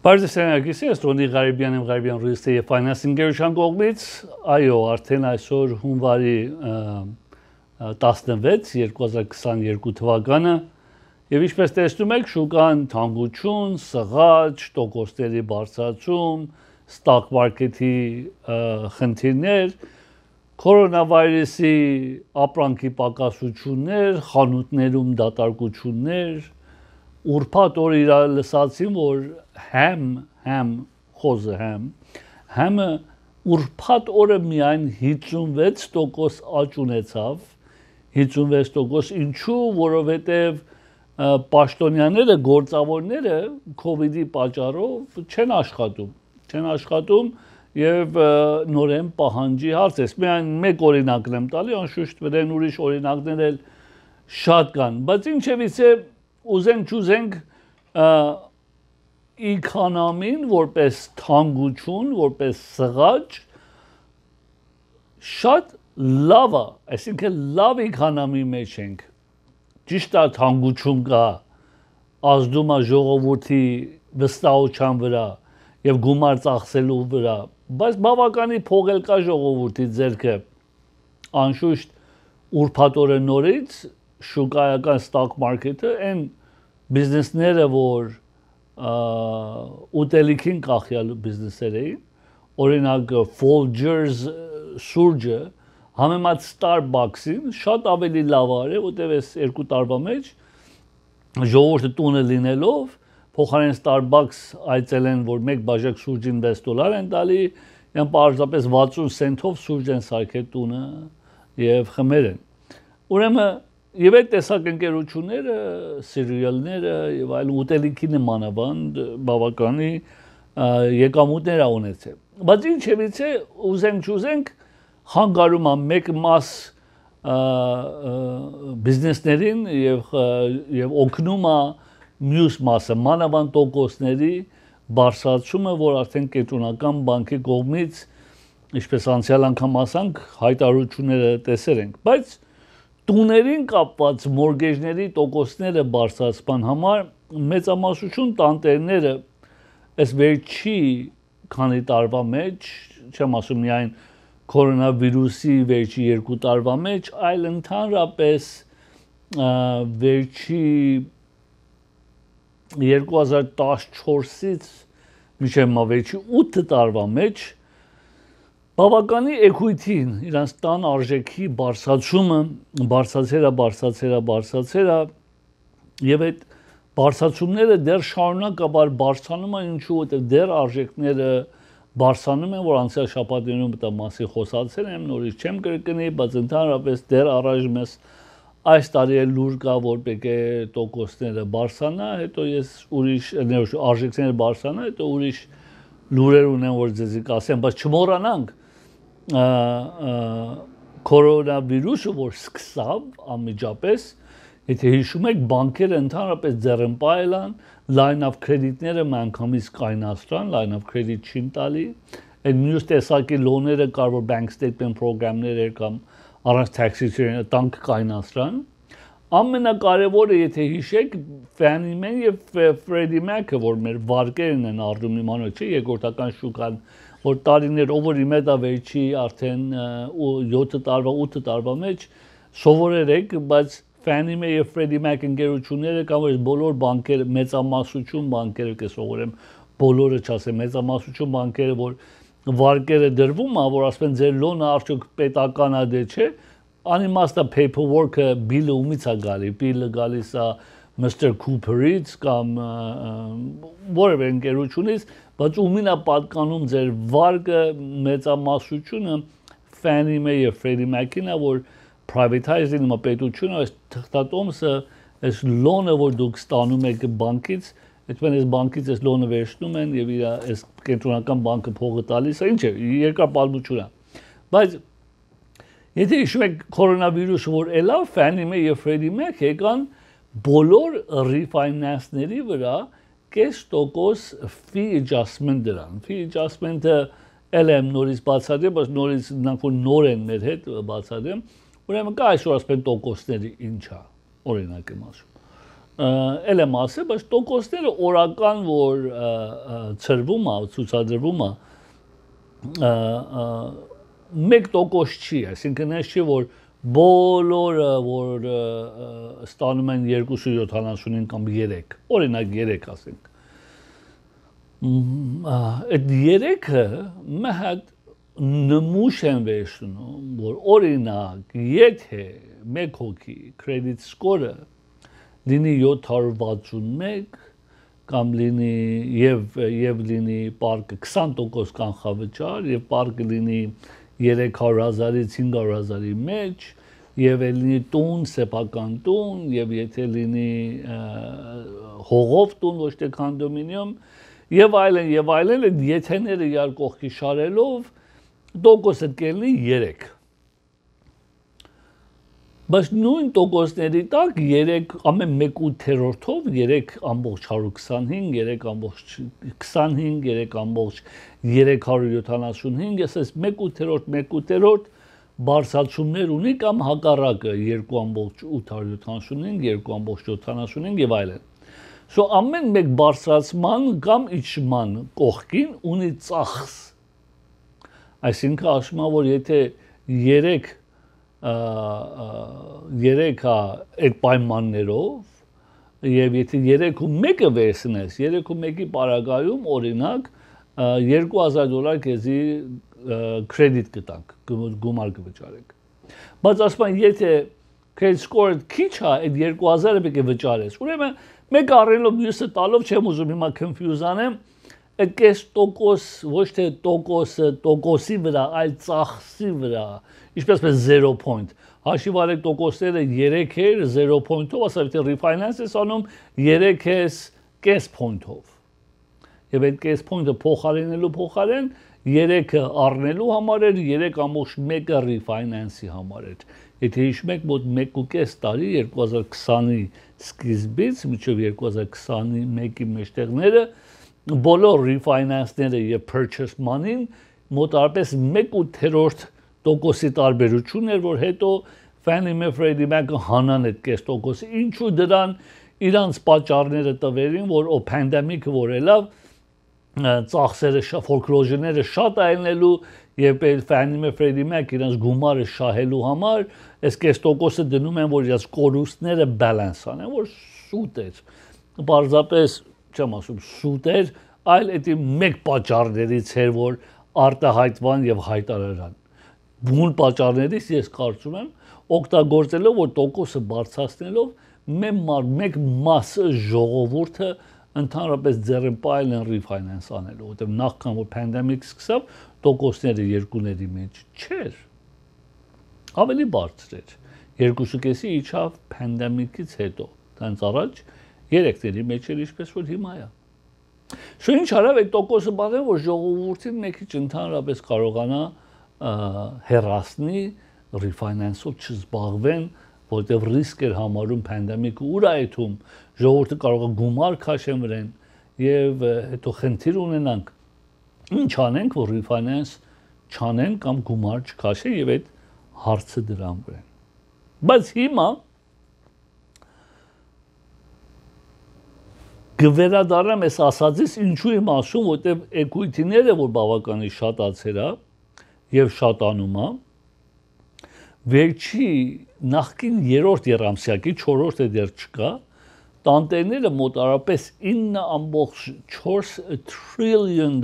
Բարձրացնագիսի Էստոնի Ղարիբյան Real Estate եւ Financing գերության կողմից, այո, արդեն այսօր հունվարի 16 2022 թվականը եւ ինչպես տեսնում եք, շուկան թանկություն, սղաճ, տոկոսների բարձրացում, stock market-ի խնդիրներ, կորոնավիրուսի ապրանքի պակասություններ, խանութներում դատարկություններ, ուրբաթ օր իրար լսացին, որ համը ուրբաթ օրը միայն 56% աճ ունեցավ, 56%, ինչու, որովհետև պաշտոնյաները, գործավորները COVID-ի պատճառով չեն աշխատում եւ նորեն պահանջի հարց է։ Միայն մեկ օրինակն եմ տալի, անշուշտ վրան ուրիշ օրինակներ էլ շատ կան, բայց ինչևիցե ուզենք իքոնոմին որպես թանկություն, որպես սղաճ շատ լավ է, այսինքն լավ իքոնոմի մեջ ենք, ճիշտ է թանկություն կա, ազդում է ժողովրդի վստահության վրա եւ գումար ծախսելու վրա, բայց բավականի փող էլ կա ժողովրդի ձեռքը, անշուշտ ուրբաթ օրը նորից շուկայական stock market-ը այն բիզնեսները, որ ուտելիքին կախյալ բիզնեսներ էին, օրինակ Folgers սուրճը համեմատ Starbucks-ին շատ ավելի լավ արել, որտեղ այս երկու տարվա մեջ ժողովուրդը տունը լինելով փոխարեն Starbucks այցել են, որ մեկ բաժակ սուրճին $6 են տալի, այն պարզապես 60 سنتով սուրճ են սարքել տունը եւ խմել են։ Ուրեմն եւ այդ տեսակ ընկերությունները, սիրիալները եւ այլ ուտելիքի նմանավանդ բավականի եկամուտներ ունեցել։ Բայց ինչևիցե ուզենք հանգարում է մեկ մաս բիզնեսներին եւ օգնում է մյուս մասը, մանավանդ տոկոսների բարձրացումը, որ արդեն կենտրոնական բանկի կողմից, ինչպես անցյալ անգամ ասանք, հայտարարությունները տեսել ենք, բայց տուներին կապված մորգեջների տոկոսները բարձրացման համար մեծամասնություն տանտերները այս վերջի քանի տարվա մեջ, չեմ ասում միայն կորոնավիրուսի վերջի 2 տարվա մեջ, այլ ընդհանրապես վերջի 2014-ից մինչև վերջի 8 տարվա մեջ բավականի էքույթին իրանց տան արժեքի բարձրացումը բարձրացել է եւ այդ բարձրացումները դեռ շարունակաբար բարձրանում են, ինչու որտեղ դեռ արժեքները բարձրանում են, որ անցյալ շաբաթներում դա մասի խոսացել եմ, նորից չեմ կրկնի, բայց ընդհանրապես դեռ առայժմ մեզ այս տարի էլ լուր կա, որ պետք է տոկոսները բարձրանա, հետո ես ուրիշ արժեքները բարձրանա, հետո ուրիշ լուրեր ունեմ, որ ձեզ կասեմ, բայց չմոռանանք կորոնավիրուսը, որ սկսավ անմիջապես, եթե հիշում եք, բանկերը ընդհանրապես ձեռնպահել են, line of credit-ները միանգամից կայնացրան, line of credit չին տալի, այդ մյուս տեսակի լոները կար, որ bank statement պրոգրամներ կամ առանց tax-ից տանք կայնացրան, ամենակարևորը, եթե հիշեք, Fannie Mae եւ Freddie Mac-ը, որ մեր վարկերն են առնում իմանալ, չէ, երկրորդական շուկան, որ տարիներ over մետա վերջի արդեն 7 տարվա, 8 տարվա մեջ սովորել եք, բայց Fannie Mae եւ Freddie Mac ընկերությունները կամ որ բոլոր բանկերը, մեծամասնություն բանկերը կսովորեմ, բոլորը չասեմ, մեծամասնություն բանկերը, որ վարկերը դրվում է, որ ասեն ձեր լոնը արդյոք պետական է դե չէ, անիմաստ է paperwork-ը բիլը ումից է գալի, բիլը գալիս է Mr. Cooper-ից կամ որևէ ընկերությունից, բայց ումին է պատկանում ձեր վարկը մեծամասնությունը Fannie Mae եւ Freddie Mac-ին է, որ privatize-ին մա պետությունը այս թղթատոմսը, այս լոնը, որ դուք ստանում եք բանկից, այդպես այս բանկից այս լոնը վերցնում են եւ իր այս կենտրոնական բանկը փողը տալիս է, ինչ է, երկար պատմություն է։ Բայց եթե հիշում եք կորոնավիրուսը, որ ելավ Fannie Mae եւ Freddie Mac եկան բոլոր refinance-ների վրա 0.5% fee adjustment դրան։ Fee adjustment-ը էլ եմ նորից բացատրեմ, բայց նորից նոր են մեր հետ բացատրեմ։ Ուրեմն կա այսօր ասեն տոկոսների ինչ է, օրինակ եմ ասում։ էլ եմ ասել, բայց տոկոսները օրական, որ ծրվում է, ցուցադրվում է, 1% չի, այսինքն այս չի, որ բոլորը, որ ստանում են 2.75 կամ 3, օրինակ 3 ասենք, այդ 3-ը մի հատ նմուշ են վերցնում, որ օրինակ, եթե մեկ հոգի credit score-ը լինի 761 կամ լինի եւ լինի պարկը 20% կանխավճար եւ պարկը լինի 300,000-ից 500,000-ի մեջ եւ լինի տուն, սեփական տուն եւ եթե լինի հողով տուն, ոչ թե կոնդոմինիում եւ այլն, այդ եթեները իրար կողքի շարելով տոկոսը կլինի 3 բայց նույն տոկոսների տակ 3 ամեն 1/8-ով 3.125, 3.25, 3.375, ասես 1/8 բարձրացումներ ունի կամ հակառակը 2.875, 2.75 եւ այլն։ So ամեն մեկ բարձրացման կամ իջման կողքին ունի ծախս։ Այսինքն ասում եմ, որ եթե 3 այդ պայմաններով եւ եթե 3.1-ը վերցնես, 3.1-ի պարագայում օրինակ $2,000 քեզի կրեդիտ կտանք, գումար կվճարենք։ Բայց ասում եմ, եթե credit score-ը քիչ է, այդ 2,000-ը պետք է վճարես։ Ուրեմն մեկ առնելով մյուսը տալով չեմ ուզում հիմա confuse անեմ, այդ կես տոկոս, ոչ թե տոկոսի վրա, այլ ծախսի վրա, ինչպես 0 point։ Հաշիվ արեք տոկոսները 3 էր 0 point-ով, ասա եթե refinance ես անում 3 ես կես point-ով։ Եվ այդ կես point-ը փոխարինելու փոխարեն 3-ը առնելու համար էր, 3.1-ը refinance-ի համար էր։ Եթե հիշում եք, մոտ 1.5 տարի 2020-ի սկիզբից մինչև 2021-ի մեջտեղները բոլոր refinance-ները եւ purchase money-ն մոտարապես 1/8% տարբերություն էր, որ հետո Fannie Mae Freddie Mac-ը հանան այդ կես տոկոսը, ինչու դրան իրանց պատճառները տվերին, որ pandemic-ը որ ելավ, ծախսերը foreclosure-ները շատ այլնելու եւ Fannie Mae Freddie Mac իրանց գումարը շահելու համար, այս կես տոկոսը դնում են, որ իրանց կորուստները balance անեն, որ սուտ էր։ Պարզապես չեմ ասում սուտ էր, այլ դա մեկ պատճառներից էր, որ արտահայտվան եւ հայտարարան։ Բուն պատճառներից ես կարծում եմ, օգտագործելով որ տոկոսը բարձրացնելով մեկ մասը ժողովուրդը ընդհանրապես ձեռնպայել են refinance անելու, որտեղ նախքան որ pandemic սկսավ, տոկոսները երկուների մեջ չէր։ Ավելի բարձր էր։ 2.5-ի իջավ pandemic-ից հետո, դրանց առաջ 3-ների մեջ էր ինչպես որ հիմա է։ Շո ինչ արավ այդ տոկոսը բացել, որ ժողովուրդին մի քիչ ընդհանրապես կարողանա հեռացնի refinance-ով չզբաղվեն, որտեղ ռիսկ էր համարում pandemic-ը ուր այդում ժողովուրդը կարող է գումար քաշեն վրան եւ հետո խնդիր ունենանք ինչ անենք որ refinance չանեն կամ գումար չքաշեն եւ այդ հարցը դրան վրան բայց հիմա գվերադառնամ ես ասածից ինչու եմ ասում որտեղ equity-ները որ բավականին շատացել է եւ շատանում է վերջի նախկին 3-րդ երամսյակի 4-րդը դեռ չկա տանտերները մոտարապես 9.4 trillion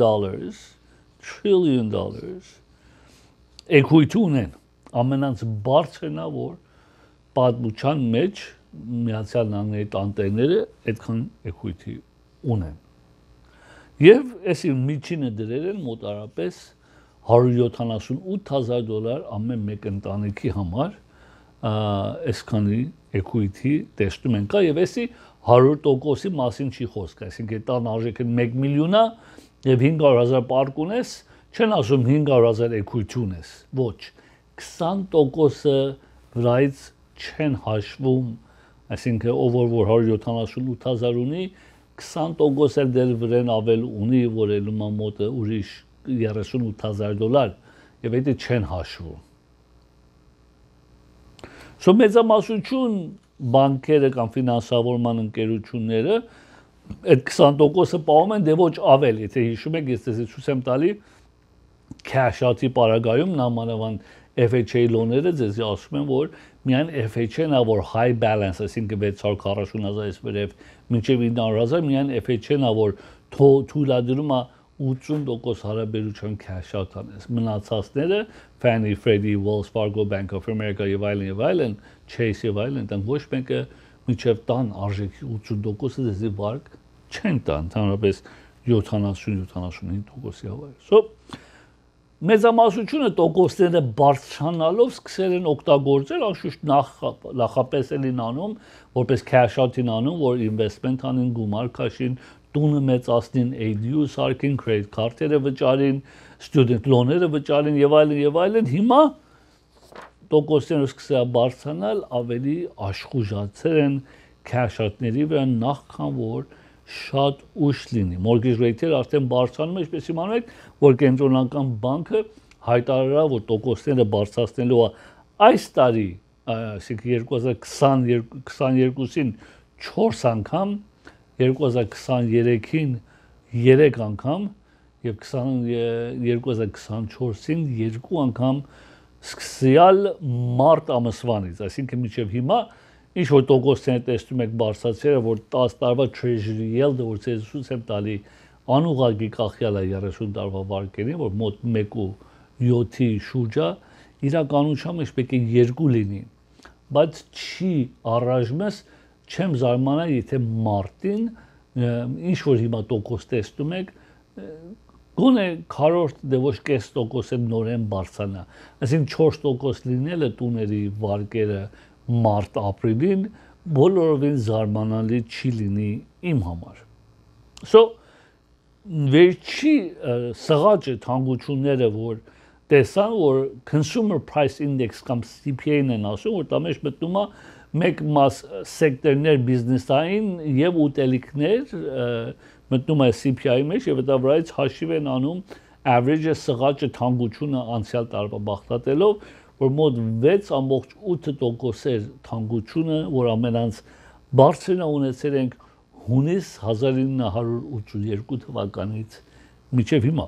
equity ունեն ամենից բարձրն է որ պատմության մեջ Միացյալ Նահանգների տանտերները այդքան equity ունեն եւ այսի միջինը դրել են մոտարապես $178,000 ամեն մեկ ընտանիքի համար այսքանի equity տեսնում են կա եւ այսի 100%-ի մասին չի խոսք, այսինքն տան արժեքը 1 միլիոն է եւ 500,000 պարկ ունես, չեն ասում 500,000 equity ունես, ոչ 20%-ը վրայից չեն հաշվում, այսինքն ով որ 178,000 ունի 20% էլ դեր վրան ավել ունի, որ ելում է մոտը ուրիշ $38,000 եւ դա չեն հաշվում։ Սո մեծամասնություն բանկերը կամ ֆինանսավորման ընկերությունները այդ 20%-ը պահում են, դե ոչ ավել, եթե հիշում եք, ես ձեզ ցույց եմ տալի cash out-ի պարագայում նամանավանդ FHA լոները ձեզի ասում են, որ միայն FHA-ն է, որ high balance, այսինքն 640,000-ից վերև մինչև 900,000, միայն FHA-ն է, որ թույլատրում է 80% հարաբերության cash out անես։ Մնացածները Fannie, Freddie, Wells Fargo, Bank of America եւ այլն, Chase եւ այլն, դրանք ոչ մեկը մինչև տան արժեքի 80%-ը դեզի վարկ չեն տան, ընդհանրապես 70-75%-ի հավայր։ So մեծամասնությունը տոկոսները բարձրանալով սկսել են օգտագործել, անշուշտ նախապես էլին անում, որպես cash out-ին անում, որ investment անին, գումար քաշին, տունը մեծացնին, ADU սարքին, credit card-երը վճարին, student loan-ները վճարին եւ այլն, հիմա տոկոսները սկսել բարձրանալ, ավելի աշխուժացել են cash out-ների վրա նախքան որ շատ ուշ լինի։ Mortgage rate-երը արդեն բարձրանում են, ինչպես իմանում եք, որ կենտրոնական բանկը հայտարարել որ տոկոսները բարձրացնելու է այս տարի, այսինքն 2022-ին 4 անգամ, 2023-ին 3 անգամ եւ 2024-ին 2 անգամ սկսյալ մարտ ամսվանից, այսինքն մինչև հիմա ինչ որ տոկոսները տեսնում եք բարձրացել, որ 10 տարվա treasury yield-ը որ ցույց եմ տալի անուղագի կախյալ է 30 տարվա վարկերին, որ մոտ 1.7-ի շուրջ է, իրականությամբ պետք է 2 լինի, բայց չի առայժմս չեմ զարմանա, եթե մարտին ինչ որ հիմա տոկոս տեսնում եք, գոնե քառորդ դե ոչ կես տոկոս է նորեն բարձրանա, այսինքն 4% լինելը տուների վարկերը մարտ ապրիլին բոլորովին զարմանալի չի լինի իմ համար։ So վերջի սղաճը թանկությունները որ տեսան որ consumer price index կամ CPI-ն են ասում որ դա մեջ մտնում է մեկ մաս սեկտորներ բիզնեսային եւ ուտելիքներ մտնում է CPI-ի մեջ եւ դա վրայից հաշիվ են անում average սղաճը թանկությունը անցյալ տարվա բախտատելով որ մոտ 6.8% թանկությունը, որ ամենից բարձրն ունեցել ենք հունիս 1982 թվականից մինչև հիմա։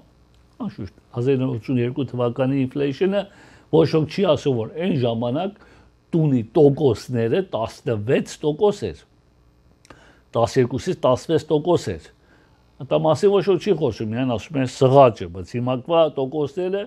Անշուշտ 1982 թվականի ինֆլեյշնը ոչ ոք չի ասում, որ այն ժամանակ տունի տոկոսները 16% էր։ 12-ից 16% էր։ Դա մասի ոչ ոք չի խոսում, միայն ասում են սղաճը, բայց հիմա տոկոսները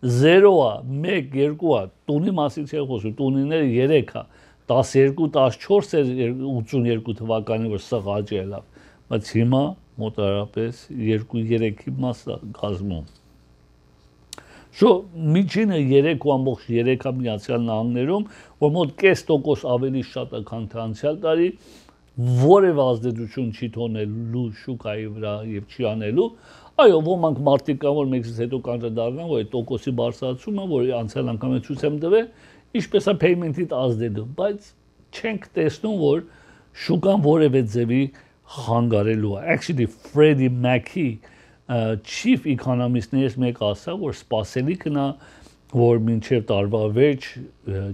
0 է, 1, 2 է, տունի մասին չի խոսում, տունիները 3 է, 12-14 էր 82 թվականի որ սղաճ ելավ, բայց հիմա մոտարապես 2-3-ի մաս կազմում։ Շո միջինը 3.3-ը Միացյալ Նահանգներում, որ մոտ կես տոկոս ավելի շատ է, քան անցյալ տարի, որևէ ազդեցություն չի թողնելու շուկայի վրա եւ չի անելու, այո, ոմանք մարդիկ կան, որ մեքսից հետո կանրադառնան, որ այդ տոկոսի բարձրացումը, որ անցյալ անգամ ցույց եմ տվել, ինչպես է payment-ից ազդելու, բայց չենք տեսնում, որ շուկան որևէ ձևի խանգարելու է։ Actually, Freddie Mac-ի chief economist-ներից մեկը ասավ, որ սպասելիքն է, որ մինչև տարվա վերջ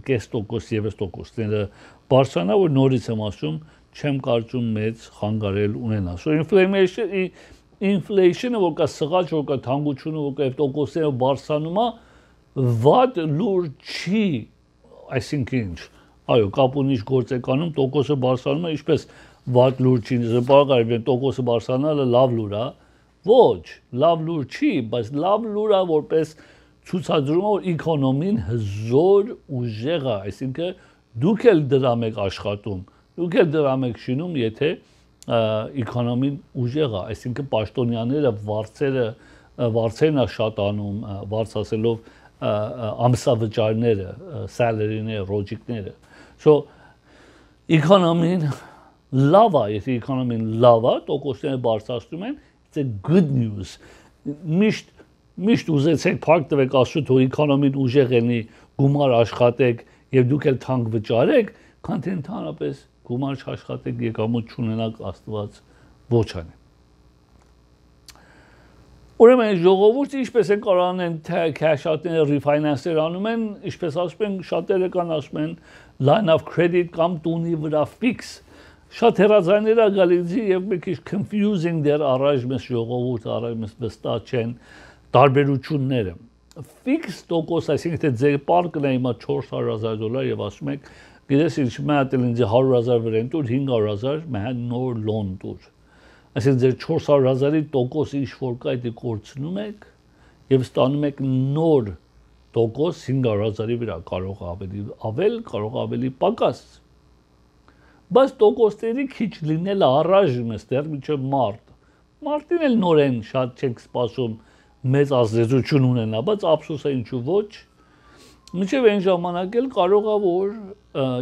կես տոկոս եւս տոկոսները բարձրանա, որ նորից եմ ասում, չեմ կարծում մեծ խանգարել ունենա։ So inflation-ը որ կա սղաճ, որ կա թանկությունը, որ կա տոկոսները բարձրանում է, վատ լուր չի, այսինքն ինչ, այո, կապ ունի գործեկանում տոկոսը բարձրանում է, ինչպես վատ լուր չի, զբաղարի տոկոսը բարձրանալը լավ լուր է, ոչ, լավ լուր չի, բայց լավ լուր է որպես ցուցադրում է, որ էկոնոմին հզոր ուժեղ է, այսինքն դուք էլ դրամ եք աշխատում, դուք էլ դրամ եք շինում, եթե էկոնոմին ուժեղ է, այսինքն պաշտոնյաները վարձերն է շատանում, վարձացելով ամսավճարները, սալերիները, ռոջիկները։ So էկոնոմին լավ է, եթե էկոնոմին լավ է, տոկոսները բարձրացնում են, it's a good news։ Միշտ ուզեցեք փառք տվեք Աստծո, թող էկոնոմին ուժեղ լինի, գումար աշխատեք եւ դուք էլ թանկ վճարեք, քան թե ընդհանրապես գումար չաշխատեք, եկամուտ չունենաք, Աստված ոչ անի։ Ուրեմն ժողովուրդը ինչպես են կարող անեն cash-outները refinance-եր անում են, ինչպես ասում են, շատերը կան ասում են line of credit կամ տունի վրա fix։ Շատ հեռացաներ է գալիս եւ մի քիչ confusing դեր առաջ մեզ ժողովուրդը առաջ մեզ վստահ չեն տարբերությունները։ Fix տոկոս, այսինքն թե ձեր պարկն է հիմա $400,000 եւ ասում եք, գիտես ինչ մատել ինձ 100,000 վրան տուր, 500,000 մահ նոր loan տուր։ Այսինքն ձեր 400,000-ի տոկոսը ինչ որ կա դա կորցնում եք եւ ստանում եք նոր տոկոս 500,000-ի վրա, կարող ավելի ավել, կարող ավելի պակաս։ Բայց տոկոսների քիչ լինելը առայժմ է դեռ մինչև մարտ։ Մարտին էլ նորեն շատ չեք սպասում մեծ ազդեցություն ունենա, բայց ափսոս է ինչու ոչ։ Մինչև այն ժամանակ էլ կարող է որ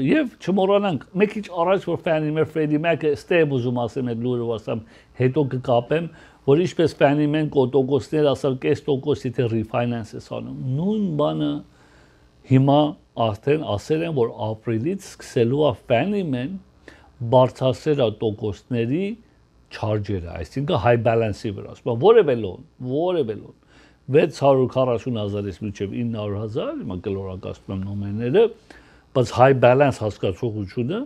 եւ չմոռանանք, մեկ քիչ առաջ որ Fannie Mae Freddie Mac-ը ստեյբ ուզում ասեմ այդ լուրը ասեմ, հետո կկապեմ, որ ինչպես Fannie Mae-ն տոկոսներ ասալ կես տոկոսի թե refinance-ը անում։ Նույն բանը հիմա արդեն ասել են, որ ապրիլից սկսելու է Fannie Mae-ն բարձրացնել տոկոսների charge-երը, այսինքն high balance-ի վրա, ասում որևէ loan 640,000-ից մինչև 900,000, հիմա կլորակացնում եմ նոմերները, բայց high balance հասկացողությունը,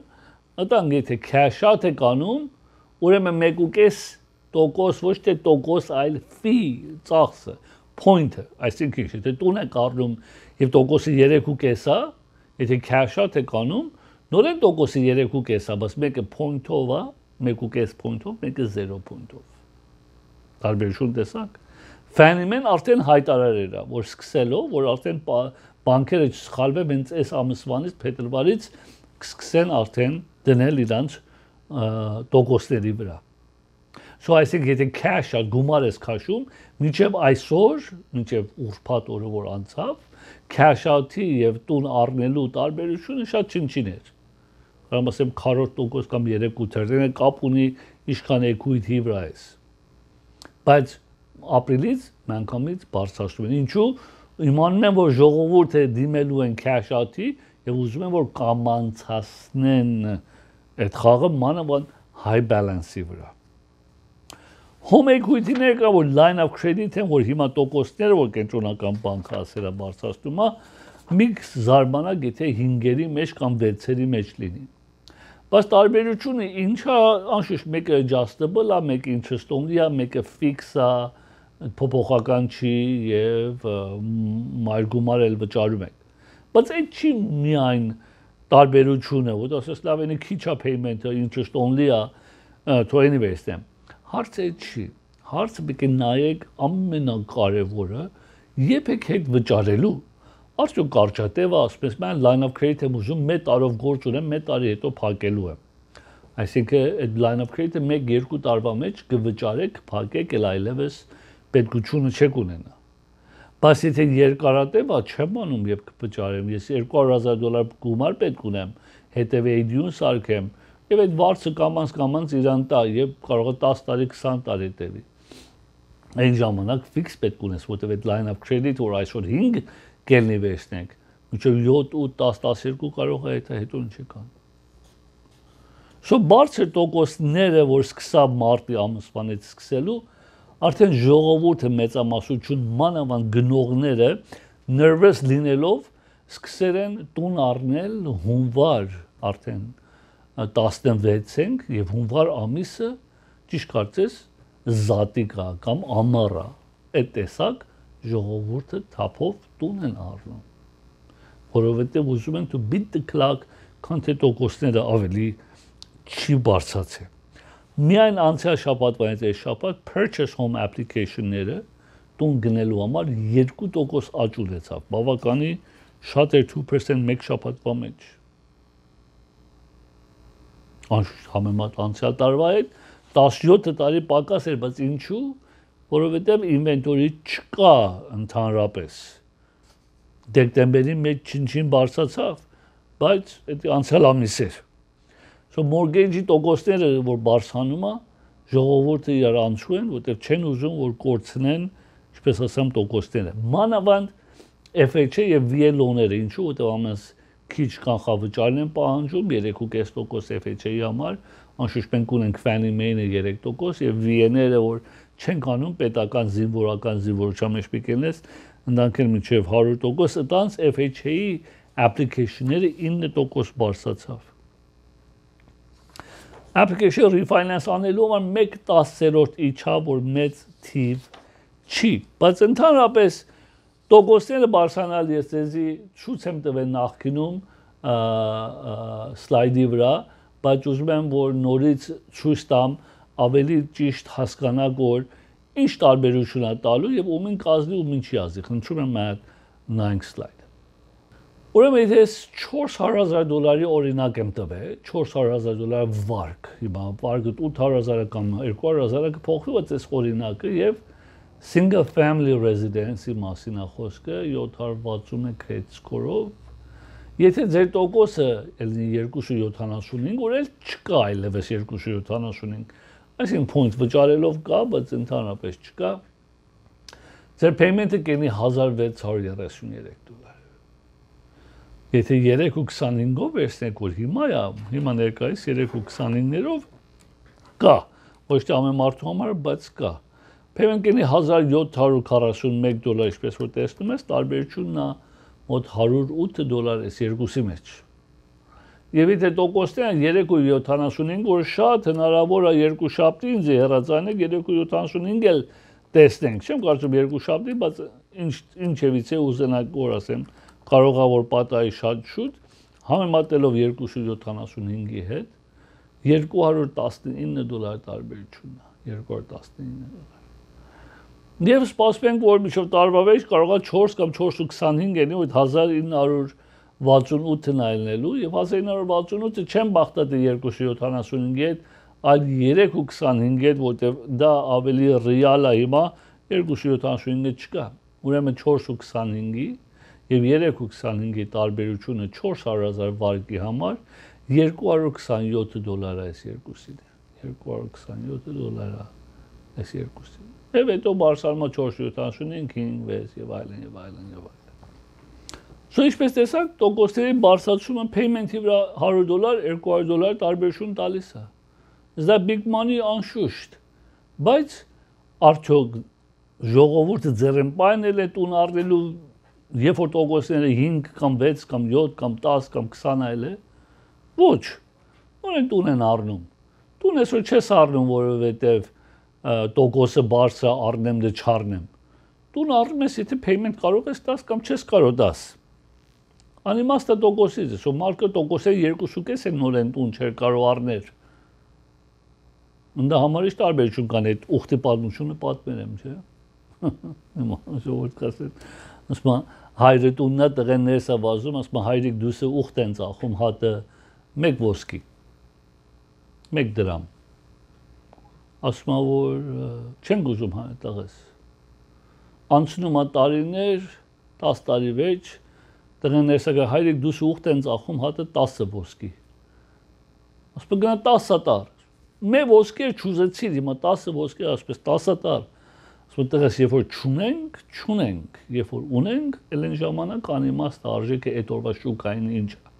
ըտանգ եթե cash out եք անում, ուրեմն 1.5% ոչ թե տոկոս, այլ fee ծախսը, point-ը, այսինքն եթե տուն եք առնում եւ տոկոսը 3.5 է, եթե cash out եք անում, նորեն տոկոսը 3.5 է, բայց մեկը point-ով է, 1.5 point-ով, մեկը 0 point-ով։ Տարբերություն տեսակ։ Fannie Mae-ն արդեն հայտարարել է, որ սկսելով, որ արդեն բանկերը չսխալվեն հենց այս ամսվանից, փետրվարից կսկսեն արդեն դնել իրանց տոկոսների վրա։ So այսինքն եթե cash out գումար ես քաշում, մինչև այսօր, մինչև ուրբաթ օրը որ անցավ, cash out-ի եւ տուն առնելու տարբերությունը շատ չնչին էր։ Կարամ ասեմ 40% կամ 3.8%, կապ ունի ինչքան equity վրա ես։ Բայց ապրիլից մանկամից բարձրացնում են։ Ինչու՞։ Իմանում են, որ ժողովուրդը դիմելու են cash out-ի եւ ուզում են որ կամանցացնեն այդ խաղը մանավանդ high balance-ի վրա։ Home equity-ները կա որ line of credit են, որ հիմա տոկոսները որ կենտրոնական բանկը ասել է բարձրացնում է, մի զարմանակ եթե 5-երի մեջ կամ 6-երի մեջ լինի։ Բայց տարբերությունը ինչա, անշուշտ մեկը adjustable է, մեկը interest only է, մեկը fix է, փոփոխական չի եւ մարգումար էլ վճարում եք։ Բայց այդ չի միայն տարբերությունը, որ ասես լավ ինքը քիչ է payment-ը, interest only է, to anyways them։ Հարցը չի։ Հարցը պետք է նայեք ամենակարևորը, երբ եք հետ վճարելու։ Արդյոք կարճատևը, ասպես mən line of credit եմ ուզում, 1 տարով գործ ունեմ, 1 տարի հետո փակելու եմ։ Այսինքն այդ line of credit-ը 1-2 տարվա մեջ կվճարեք, փակեք, էլ այլևս պետքությունը չեք ունենա։ Բայց եթե երկարատև է, չեմ անում, երբ կվճարեմ, ես $200,000 գումար պետք ունեմ, հետևի AD-ուն սարքեմ, եւ այդ վարձը կամանց իրան տա, եւ կարող է 10 տարի, 20 տարի տևի։ Այն ժամանակ fix պետք ունես, որտեղ այդ line of credit որ այսօր 5 կելնի վերցնենք, մինչև 7, 8, 10, 12 կարող է հետո ինչ կան։ So բարձր տոկոսները, որ սկսավ մարտի ամսվանից սկսելու, արդեն ժողովուրդը մեծամասնություն մանավանդ գնողները nervous լինելով սկսել են տուն առնել հունվար արդեն 16-ին եւ հունվար ամիսը ճիշտ կարծես զատիկա կամ ամառա այդ տեսակ ժողովուրդը թափով տուն են առնում որովհետեւ ուզում են to beat the clock քան թե տոկոսները ավելի չի բարձրացել միայն անցյալ շաբաթվանից այս շաբաթ purchase home application-ները տուն գնելու համար 2% աճ ունեցավ բավականի շատ էր 2% մեկ շաբաթվա մեջ համեմատ անցյալ տարվա հետ 17 տարի պակաս էր, բայց ինչու, որովհետև ինվենտորի չկա ընդհանրապես։ Դեկտեմբերի մեջ չին բարձրացավ, բայց դա անցյալ ամիս էր։ So mortgage-ի տոկոսները, որ բարձրանում է, ժողովուրդը իրար անցու են, որտեղ չեն ուզում, որ կորցնեն, ինչպես ասեմ, տոկոսները։ Մանավանդ FHA եւ VA loan-ները, ինչու, որտեղ ամենս քիչ կանխավճարն են պահանջում 3.5% FHA-ի համար, անշուշտ մենք ունենք Fannie Mae-ը 3% եւ VN-երը, որ չենք անում պետական զինվորական զինվորության մեջ պիտենես, ընդանքել մինչև 100%, այդտենց FHA-ի application-ները 9% բարձրացավ։ Application refinance անելու համար 1/10 իջավ, որ մեծ թիվ չի, բայց ընդհանրապես տոկոսները բարձրանալ ես ձեզի ցույց եմ տվել նախկինում սլայդի վրա, բայց ուզում եմ որ նորից ցույց տամ ավելի ճիշտ հասկանաք որ ինչ տարբերություն է տալու եւ ումին կազմի ու ինչի ազի։ Խնդրում եմ այդ նայենք սլայդ։ Ուրեմն եթե $400,000 օրինակ եմ տվել, $400,000 վարկ, հիմա վարկը 800,000 կամ 200,000 կփոխվի, բայց այս օրինակը եւ single family residence-ի մասին է խոսքը 761 credit score-ով։ Եթե ձեր տոկոսը ելնի 2.75, որ էլ չկա այլևս 2.75, այսինքն point վճարելով կա, բայց ընդհանրապես չկա, ձեր payment-ը կենի $1,633։ Եթե 3.25-ով վերցնեք, որ հիմա ներկայիս 3.25-ներով կա, ոչ թե ամեն մարդու համար, բայց կա։ Payment կենի $1,741, ինչպես որ տեսնում ես, տարբերությունն է մոտ $108 էս երկուսի մեջ։ Եվ եթե տոկոսներն 3.75, որ շատ հնարավոր է երկու շաբթի ինձ հեռացանեք 3.75 էլ տեսնենք, չեմ կարծում երկու շաբթի, բայց ինչևիցե ուզենակ որ ասեմ, կարող է որ պատահի շատ շուտ, համեմատելով 2.75-ի հետ $219 տարբերությունն է, $219։ Եվ սպասում ենք, որ մինչև տարվա վերջ կարող է 4 կամ 4.25 ելնի, որ 1968-ն այլնելու, եւ 1968-ը չեմ բախտատի 2.75-ի հետ, այլ 3.25-ի հետ, որտեղ դա ավելի ռեալ է հիմա 2.75-ը չկա։ Ուրեմն 4.25-ի եւ 3.25-ի տարբերությունը 400,000 վարկի համար $227 է այս երկուսին։ $227 է այս երկուսին։ Եվ հետո բարձրանում է 4.75, 5 եւ այլն եւ այլն եւ այլն։ Սա ինչպես տեսակ, տոկոսների բարձրացումը payment-ի վրա $100, $200 տարբերություն տալիս է։ Դա big money անշուշտ, բայց արդյոք ժողովուրդը ձեռնպայնել է տուն առնելու, երբ որ տոկոսները 5 կամ 6 կամ 7 կամ 10 կամ 20 այլ է, ոչ, որեն տուն են առնում։ Տուն այսօր չես առնում, որովհետև տոկոսը բարձր առնեմ դե չառնեմ։ Տուն առնում ես, եթե payment կարող ես 10 կամ չես կարող 10։ Անիմաստ է տոկոսից, սո մարդը տոկոսը 2.5 են նորեն տուն չէր կարող առնել։ Դա համարիշ տարբերություն կան այդ ուխտի պատմությունը պատմեմ, չէ։ Հիմա ժողովուրդ կասեն, ասում հայրը տունն է, տղեն ներս է վազում, ասում հայրիկ դուսը ուխտ են ծախում հատը 1 ոսկի, 1 դրամ։ Ասում որ չեն գուզում տղես։ Անցնում է տարիներ, 10 տարի վերջ, տղեն ներս է գա հայրիկ դուսը ուխտ են ծախում հատը 10 ոսկի։ Ասում գնա 10 տար։ Մե ոսկի չուզեցիր, հիմա 10 ոսկի, ասպես 10 տար։ Ասում տղես, երբ որ չունենք, երբ որ ունենք, էլ այն ժամանակ անիմաստ արժեքը այդ օրվա շուկային ինչ է։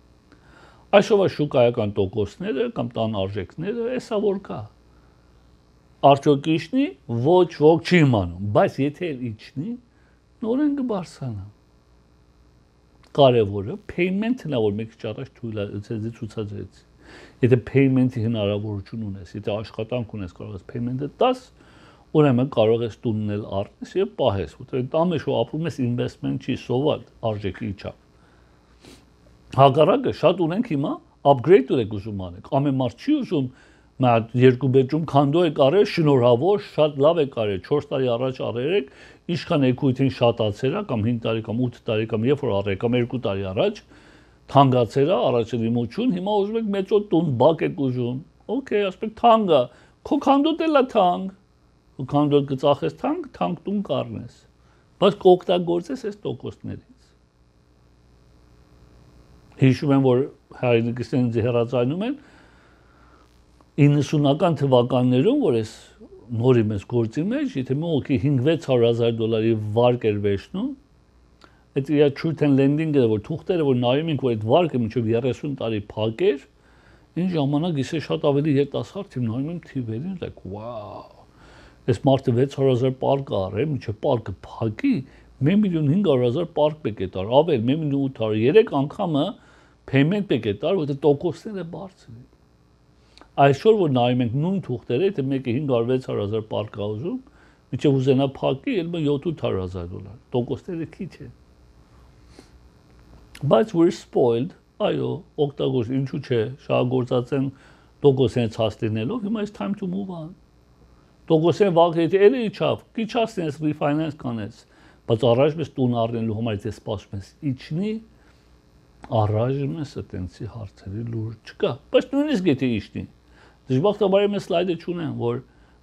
Այսօրվա շուկայական տոկոսները կամ տան արժեքները, էսա որ կա։ Արդյոք իջնի, ոչ ոք չի իմանում, բայց եթե իջնի, նորեն կբարձրանա։ Կարևորը payment-ն է, որ մեկ քիչ առաջ ցույց ցուցադրեցի։ Եթե payment-ի հնարավորություն ունես, եթե աշխատանք ունես, կարող ես payment-ը 10, ուրեմն կարող ես տուննել առնես եւ պահես, որտեղ տամը շո ապրում ես investment չի սովալ արժեքի իջա։ Հակառակը շատ ունենք հիմա upgrade եք ուզում անեք։ Ամեն մարդ չի ուզում Մատ երկու bedroom condo եք արել, շնորհավոր, շատ լավ եք արել, 4 տարի առաջ արել եք, ինչքան equity-ին շատացել է կամ 5 տարի կամ 8 տարի կամ երբ որ արել կամ 2 տարի առաջ, թանկացել է, առաջին իմություն, հիմա ուզում եք մեծո տուն, բակ եք ուզում։ Okay, ասեք թանկա, քո condo-դ էլ է թանկ։ Քո condo-դ կծախես թանկ տուն կառնես։ Բայց կօգտագործես այս տոկոսներից։ Հիշում եմ, որ հայրենիքս ինձ հեռացայնում են 90-ական թվականներում, որ ես նորի մեզ գործի մեջ, եթե մոքի 5-600,000 վարկ էր վերջնում, այդ իր truth and lending-ը, որ թուղթերը, որ նայում ենք, որ այդ վարկը մինչև 30 տարի փակ էր, Այն ժամանակ ես շատ ավելի երիտասարդ եմ նայում եմ թիվերին, like wow. Այս մարդը 600,000 պարկ արել, միջև պարկը փակի 1,500,000 պարկ պեկետար, ավել 1,800,000, 3 անգամը payment պեկետար, որտեղ տոկոսները բարձր են։ Այսօր որ նայում ենք նույն թուղթերը, եթե մեկը 500-600,000 պարկ է ուզում, միջև ուզենա փակի, ելը 700,000 $, տոկոսները քիչ են։ Բայց we're spoiled, այո, օգտագործ, ինչու՞ չէ, շահագործած են տոկոսներից հասնելով, հիմա it's time to move on։ Տոկոսեն վաղ եթե էլի իջավ, քիչացնես refinance կանես, բայց առաջ մեզ տուն առնելու համար եթե սպասում ես իջնի, առաջ մեզ այտենցի հարցերի լուր չկա, բայց նույնիսկ եթե իջնի, դժբախտաբար ես սլայդը չունեմ, որ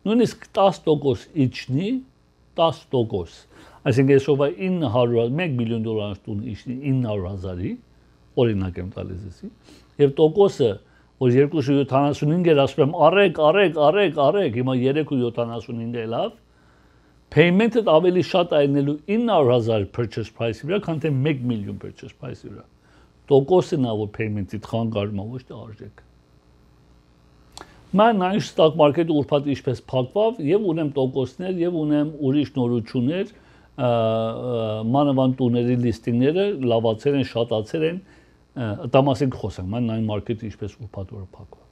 նույնիսկ 10% իջնի, 10%, այսինքն այսօրվա 1 միլիոն դոլարի տուն իջնի 900,000-ի, օրինակ եմ տալիս էսի, եւ տոկոսը որ 2.75 էր ասում եմ արեք, հիմա 3.75 է լավ, payment-ը ավելի շատ այնելու 900,000 purchase price-ի վրա, քան թե 1 միլիոն purchase price-ի վրա։ Տոկոսը նա որ payment-ի խանգարում է, ոչ թե արժեք։ Mən նայում stock market-ը ուրբաթ ինչպես փակվավ եւ ունեմ տոկոսներ եւ ունեմ ուրիշ նորություններ, մանավանդ տուների լիստինգները լավացել են, շատացել են, դա մասին խոսենք, mən նայում market-ը ինչպես ուրբաթ օրը փակվավ։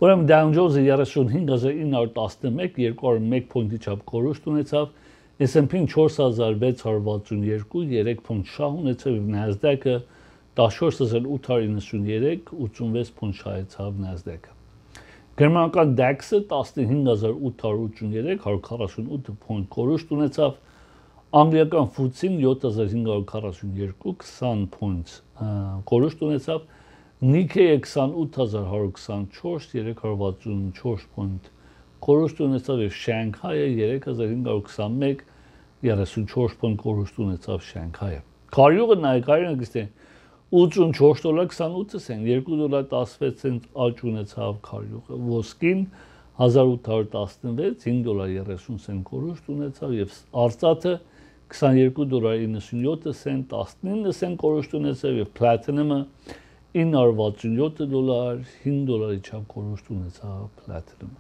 Ուրեմն Dow Jones-ը 35,911 201 պոինտի չափ կորուստ ունեցավ, S&P-ն 4,662 3 պոնտ շահ ունեցավ, Nasdaq-ը 14,893 86 պոնտ շահեցավ Nasdaq-ը։ Գերմանական DAX-ը 15,883 148 պոնտ կորուստ ունեցավ, անգլիական FTSE-ն 7,542 20 պոնտ կորուստ ունեցավ, Nikkei-ը 28,124 364 պոնտ կորուստ ունեցավ եւ Շանհայը 3,521 34 պոնտ կորուստ ունեցավ Շանհայը։ Քարյուղը նայկարին գստե $84.28 $2.16 աճ ունեցավ քարյուղը, ոսկին 1816 $5.30 կորուստ ունեցավ եւ արծաթը $22.97 19 կորուստ ունեցավ եւ platinum-ը $967 $5 չափ կորուստ ունեցավ platinum-ը։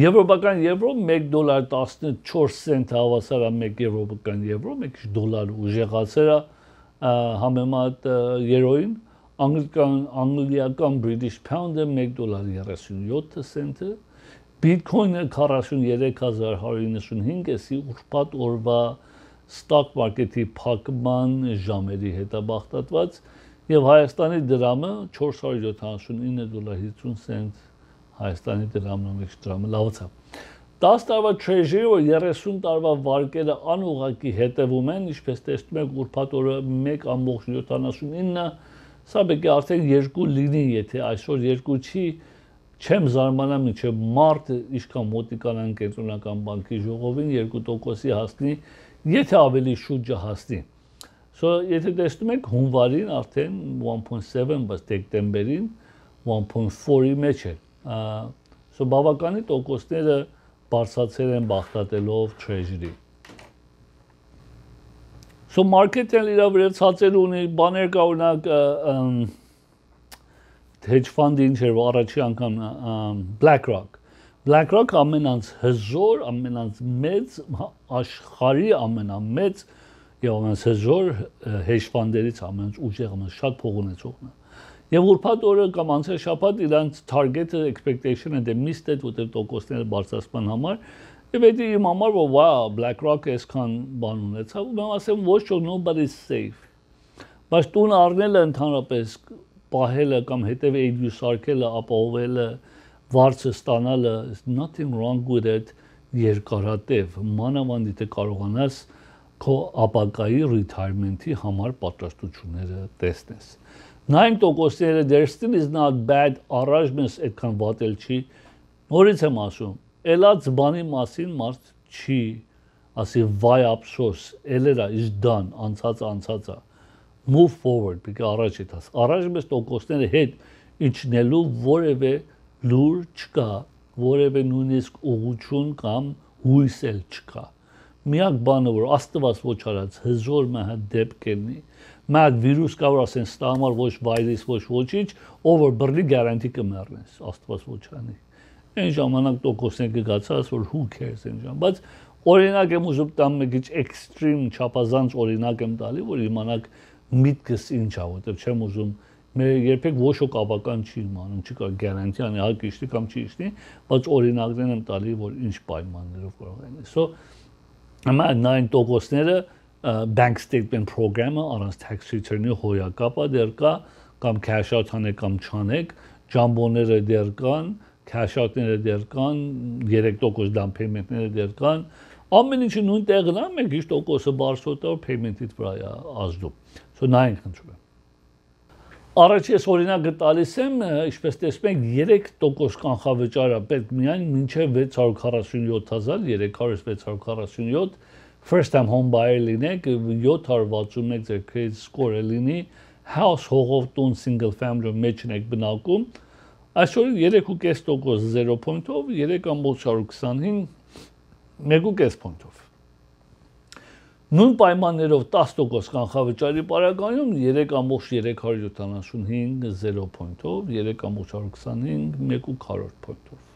Եվրոպական եվրո $1.14 հավասար է 1 եվրոպական եվրո, 1 դոլար ուժեղացել է համեմատ երոին, անգլիական British Pound-ը $1.37, Bitcoin-ը 43,195 էսի ուրբաթ օրվա stock market-ի փակման ժամերի հետաբախտատված եւ Հայաստանի դրամը $479.50 Հայաստանի դրամն ու դրամը լավացավ։ 10 տարվա treasury որ 30 տարվա վարկերը անուղակի հետևում են, ինչպես տեսնում եք ուրբաթ օրը 1.79, սա պետք է արդեն 2 լինի, եթե այսօր 2 չի, չեմ զարմանա մինչև մարտ ինչքան մոտիկանան կենտրոնական բանկի ժողովին 2%-ի հասնի, եթե ավելի շուրջը հասնի։ So եթե տեսնում եք հունվարին արդեն 1.7, բայց դեկտեմբերին 1.4-ի մեջ է։ So բավականի տոկոսները բարձրացել են բախտատելով treasury։ So market-ն իրավ վրա ցածր ունի, բաներ կա օրինակ hedge fund-ը ինչ էր առաջի անգամ BlackRock։ BlackRock ամենից հզոր, ամենից մեծ աշխարհի ամենամեծ եւ ամենից հզոր hedge fund-երից ամենից ուժեղ, ամենից շատ փող ունեցողն է։ Եվ ուրբաթ օրը կամ անցյալ շաբաթ իրանց target-ը expectation-ը դե missed-ed որտեղ տոկոսները բարձրացման համար եւ դա իմ համար որ wow BlackRock-ը այսքան բան ունեցավ ու mən ասեմ ոչ որ nobody's safe բայց տուն առնելը ընդհանրապես պահելը կամ հետեւը ADU սարքելը ապահովելը վարձը ստանալը is nothing wrong with it երկարատև մանավանդ եթե կարողանաս քո ապագայի retirement-ի համար պատրաստությունները տեսնես Նայենք տոկոսները there still is not bad առաջ մեզ այդքան վատել չի նորից եմ ասում ելած բանի մասին մարդ չի ասի վայ ափսոս ելերա is done անցածը move forward պիտի առաջ եթաս առաջ մեզ տոկոսները հետ իջնելու որևէ լուր չկա որևէ նույնիսկ ուղղություն կամ հույս էլ չկա միակ բանը որ աստված ոչ արած հզոր մահ դեպք կլինի Մատ վիրուս կարող ասեն ստա համար ոչ վայրիս ոչ ոչինչ, ով որ բռնի գարանտի կմեռնես, Աստված ոչ անի։ Այն ժամանակ տոկոսներ կգացած որ who cares այն ժամ, բայց օրինակ եմ ուզում տամ մի քիչ extreme չափազանց օրինակ եմ տալի, որ իմանաք միտքս ինչ է, որտեղ չեմ ուզում մեր երբեք ոչ ոք ավական չի իմանում, չի կարող գարանտի անի, հա կիշտի կամ չի իշտի, բայց օրինակներ եմ տալի, որ ինչ պայմաններով կարող են։ So ամա 9%-ները bank statement program-ը առանց tax return-ի հոյակապա դեր կա, կամ cash out անեք կամ չանեք, ջամբոները դեր կան, cash out-ները դեր կան, 3% down payment-ները դեր կան, ամեն ինչը նույն տեղն է, մեկ ինչ տոկոսը բարձրոտար payment-ից վրա է ազդում։ So նայենք խնդրում եմ։ Առաջ ես օրինակը տալիս եմ, ինչպես տեսնում եք 3% կանխավճարը պետք միայն մինչև 647,347 first time home buyer լինեք, 761 ձեր credit score-ը լինի, house հողով տուն single family մեջ եք բնակում, այսօր 3.5% 0 point-ով, 3.425 1.5 point-ով։ Նույն պայմաններով 10% կանխավճարի պարագայում 3.375 0 point-ով, 3.425 1.4 point-ով։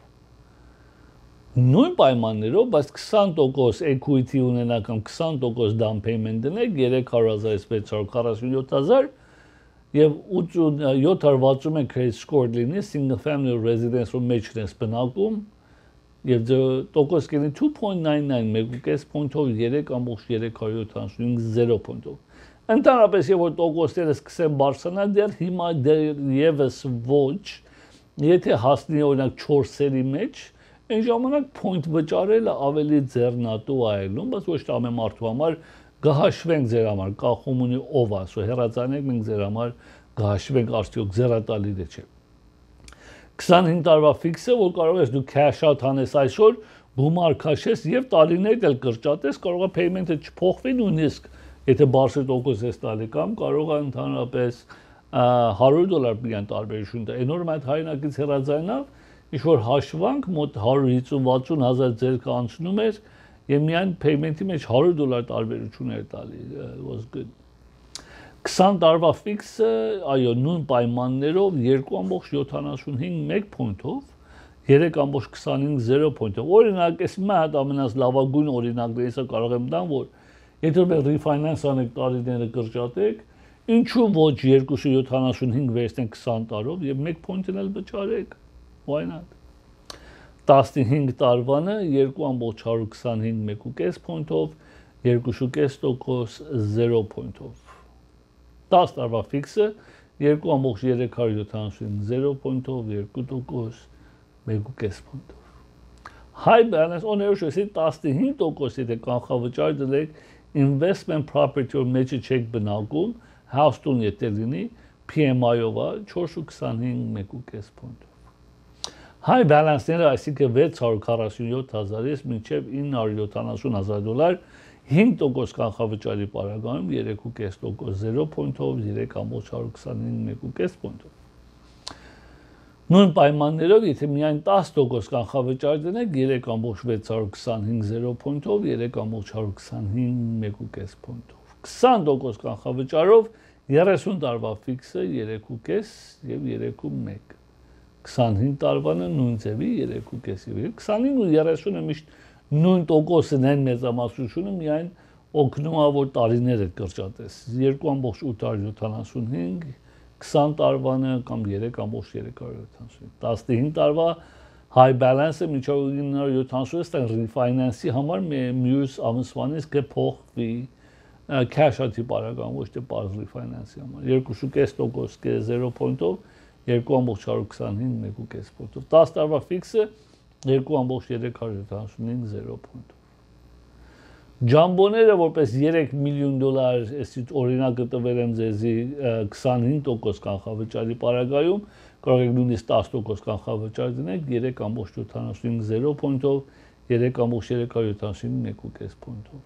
Նույն պայմաններով, բայց 20% equity ունենա կամ 20% down payment դնեք 300,647,000 եւ 761 credit score լինի single family residence-ով մեջն ես բնակում եւ տոկոս կլինի 2.99 1.5 point-ով 3.375 0 point-ով։ Ընդհանրապես եւ որ տոկոսները սկսեն բարձրանալ դեռ հիմա եւս ոչ, եթե հասնի օրինակ 4-երի մեջ, այն ժամանակ point վճարելը ավելի ձեռնատու այլում, բայց ոչ թե ամեն մարդու համար գահաշվենք ձեր համար, կախում ունի ով է, սո հեռացանեք մենք ձեր համար գահաշվենք արդյոք ձեռատալի դե չէ։ 25 տարվա ֆիքսը, որ կարող ես դու cash out անես այսօր, գումար քաշես եւ տարիներ էլ կրճատես, կարող է payment-ը չփոխվի նույնիսկ, եթե բարձր տոկոս ես տալի կամ կարող է ընդհանրապես $100 միայն տարբերություն տա։ Այն օրը այդ հայրենակից հեռացանավ, ինչ որ հաշվանք մոտ 150-60 հազար ձեր կանցնում էր եւ միայն payment-ի մեջ $100 տարբերություն էր տալի, was good։ 20 տարվա ֆիքսը, այո, նույն պայմաններով 2.75 point-ով, 3.25 0 point-ով։ Օրինակ, ես մի հատ ամենից լավագույն օրինակներից կարող եմ տամ, որ եթե մենք refinance անեք տարիները կրճատեք, ինչու ոչ 2.75 վերցնենք 20 տարով եւ 1 point-ն էլ վճարեք։ Why not? 15 տարվանը 2.425 1.5 point-ով, 2.5% 0 point-ով։ 10 տարվա ֆիքսը 2.375 0 point-ով, 2% 1.5 point-ով։ High balance ownership-ի 15% եթե կանխավճար դրեք investment property-ով մեջը չեք բնակում, house տուն եթե լինի, PMI-ով է 4.25 1.5 point-ով։ High balance-ները, այսինքն 647,000-ից մինչև $970,000 5% կանխավճարի պարագայում 3.5% 0 point-ով, 3.425 1.5 point-ով։ Նույն պայմաններով, եթե միայն 10% կանխավճար դնեք 3.625 0 point-ով, 3.425 1.5 point-ով։ 20% կանխավճարով 30 տարվա ֆիքսը 3.5 եւ 3.1։ 25 տարվանը նույն ձևի 3.5 եւ 25 ու 30-ը միշտ նույն տոկոսն են մեծամասնությունը միայն օգնում է որ տարիները կրճատես 2.875 20 տարվանը կամ 3.375 15 տարվա high balance-ը միջով 970 refinance-ի համար մյուս ամսվանից կփոխվի cash out-ի պարագայում ոչ թե բարձ refinance-ի համար 2.5% 0 point-ով 2.425 1.5 point-ով 10 տարվա ֆիքսը 2.375 0 point-ով Ջամբոները որպես $3 միլիոն այսից օրինակը տվել եմ ձեզի 25% կանխավճարի պարագայում կարող եք նույնիսկ 10% կանխավճար դնեք 3.75 0 point-ով 3.375 1.5 point-ով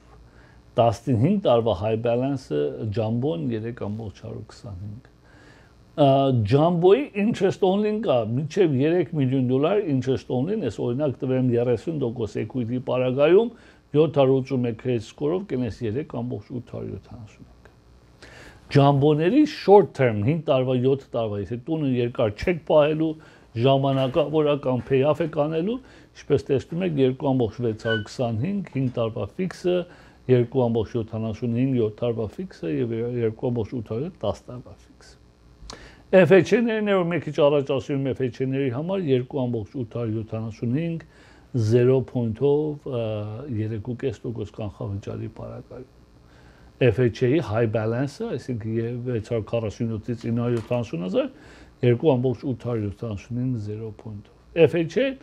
15 տարվա high balance-ը ջամբոն 3.425 Jumbo-ի interest only-ն կա, մինչև $3 միլիոն interest only-ն, ես օրինակ տվեմ 30% equity պարագայում 781 credit score-ով կենես 3.871։ Ջամբոների short term 5 տարվա 7 տարվա եթե տունը երկար չեք պահելու ժամանակավորական payoff եք անելու ինչպես տեսնում եք 2.625 5 տարվա ֆիքսը 2.75 7 տարվա ֆիքսը եւ 2.8 10 տարվա ֆիքսը FHN-ներն որ մի քիչ առաջ ասում եմ FHN-ների համար 2.875 0.ով 3.5% կանխավճարի պարագայում FHA-ի high balance-ը, այսինքն 647-ից 970,000 2.875 0.ով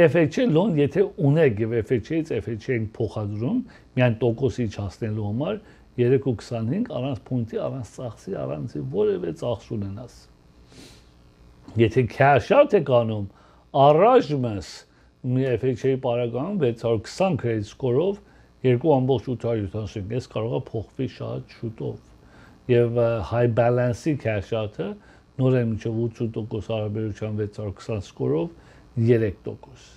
FHA loan եթե ունեք եւ FHA-ից FHA-ին փոխադրում միայն տոկոսի չհասնելու համար 3.25 առանց փունտի, առանց ծախսի, առանց որևէ ծախս ունենաս։ Եթե cash out եք անում, առայժմս մի FHA-ի պարագայում 620 credit score-ով 2.875 ես կարող է փոխվի շատ շուտով եւ high balance-ի cash out-ը նորեն մինչեւ 80% հարաբերության 620 score-ով 3%։